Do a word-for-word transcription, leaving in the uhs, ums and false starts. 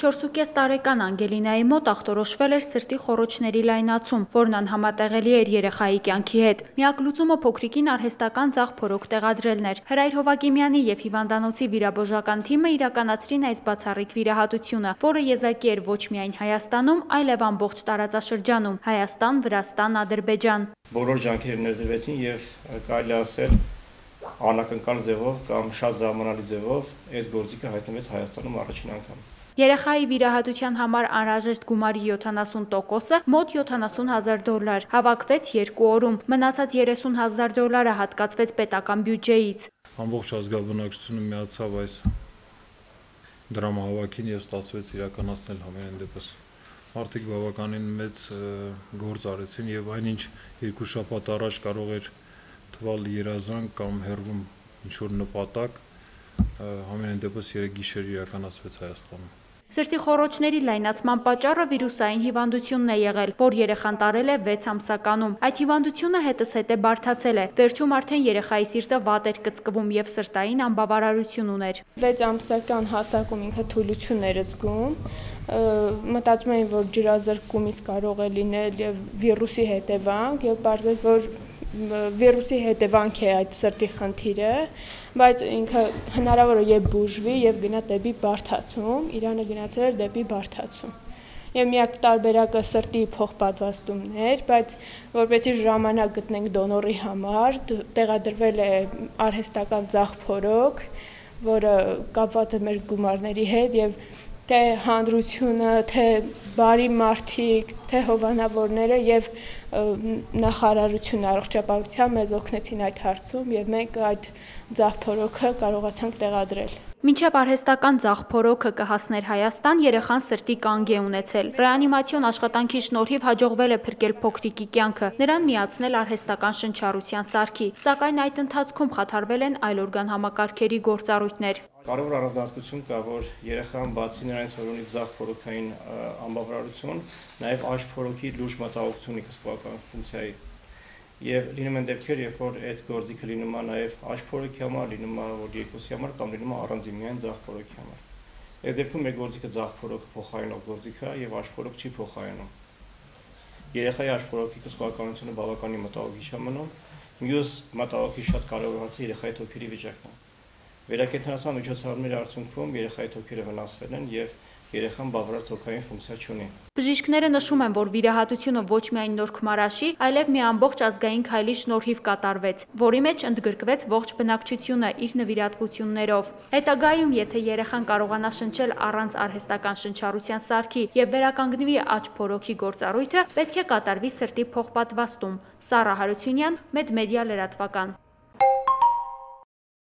չորսուկես տարեկան Անգելինայի մոտ ախտորոշվել էր սրտի խոռոչների լայնացում, որն անհամատեղելի էր երեխայի կյանքի հետ։ Միակ լուծումը փոքրիկին արհեստական ձախ փորոք տեղադրելն էր։ Հրայր Հովակիմյանի եւ հիվանդանոցի վիրաբուժական թիմը իրականացրին այս բացառիկ վիրահատությունը, որը եզակի էր ոչ միայն Հայաստանում, այլև ամբողջ տարածաշրջանում՝ Հայաստան, Վրաստան, Ադրբեջան։ Բոլոր ջանքերը ներդրվեցին եւ կարելի ասել անակնկալ ձևով կամ շատ զարմանալի ձևով այդ գործիքը հայտնվեց Հայաստանում առաջին անգամ։ Երեխայի վիրահատության համար անհրաժեշտ գումարի յոթանասուն տոկոսը մոտ յոթանասուն հազար դոլար հավաքվեց երկու օրում, մնացած երեսուն հազար դոլարը հատկացվեց պետական բյուջեից։ Ամբողջ ազգաբնակչությունը միացավ այս դրամահավաքին եւ ստացվեց իրականացնել համենայն դեպս։ Մարդիկ բավականին մեծ գործ արեցին եւ այնինչ երկու շաբաթ առաջ կարող էր թվալ երազանք կամ հեռվում ինչ-որ նպատակ, համենայն դեպս երեք գիշեր իրականացվեց Հայաստանում։ Սրտի խոռոչների լայնացման պատճառը վիրուսային հիվանդությունն է եղել, որ երեխան տարել է վեց ամսականում։ Այդ հիվանդությունը հետզհետե բարդացել է։ Վերջում արդեն երեխայի սիրտը վատ էր կծկվում եւ սրտային անբավարարություն ուներ։ վեց ամսական հասակում ինքը թուլություն էր զգում, մտածում էին, որ ջրազրկումից կարող է լինել եւ վիրուսի հետևանք, եւ պարզեց, որ վիրուսի հետևանք է այդ սրտի խնդիրը, բայց ինքը հնարավոր է եւ բուժվի եւ գնա դեպի բարդացում, Իրանը գնացել էր դեպի բարդացում։ Եվ միակ տարբերակը սրտի փոխպատվաստումն էր, բայց որպեսզի ժամանակ գտնենք դոնորի համար, տեղադրվել է արհեստական ձախ փորոք, որը կապված է մեր գումարների հետ եւ թե հանրությունը, թե բարի մարդիկ, թե հովանավորները եւ նախարարությունը առողջապահության մեզ օգնեցին այդ հարցում եւ մենք այդ ձախ փորոքը կարողացանք տեղադրել։ Մինչև արհեստական ձախ փորոքը կհասներ Հայաստան, երեխան սրտի կանգ է ունեցել։ Ռեանիմացիոն աշխատանքի շնորհիվ հաջողվել է փրկել փոքրիկի կյանքը, նրան միացնել արհեստական շնչառության սարքի, սակայն այդ ընթացքում խաթարվել են այլօրգան համակարգերի գործառույթներ։ Կարևոր առանձնահատկություն կա, որ երեխան բացի նրանից, որ ունի ձախ փորոքային անբավարարություն, նաև աջ փորոքի լուրջ մտահոգություն ունի կսկվական ֆունկցիայի։ Եվ լինում են դեպքեր, երբ որ այդ գործիքը լինում է նաև աջ փորոքի համար, լինում է որ երկուսի համար կամ լինում է առանձին միայն ձախ փորոքի համար։ Այս դեպքում մեր գործիքը ձախ փորոքը փոխարինող գործիք է եւ աջ փորոք չի փոխարինում։ Երեխայի աջ փորոքի կսկվականությունը բավականին մտահոգիչ է մնում։ Մյուս մտահոգիչ շատ կարևոր հարցը երեխայի թոքերի վիճակն է։ Վերակենդանացման միջոցառումների արդյունքում երեխայի թոքերը վնասվել են եւ երեխան բավարար թոքային ֆունկցիա չունի։ Բժիշկները նշում են, որ վիրահատությունը ոչ միայն նոր Քմարաշի, այլև մի ամբողջ ազգային քայլի շնորհիվ կատարվեց, որի մեջ ընդգրկվեց ողջ բնակչությունը իր նվիրատվություններով։ Հետագայում, եթե երեխան կարողանա շնչել առանց արհեստական շնչառության սարքի եւ վերականգնվի աջ փորոքի գործառույթը, պետք է կատարվի սրտի փոխպատվաստում։ Սառա Հարությունյան, Մեդմեդիա լրատվական։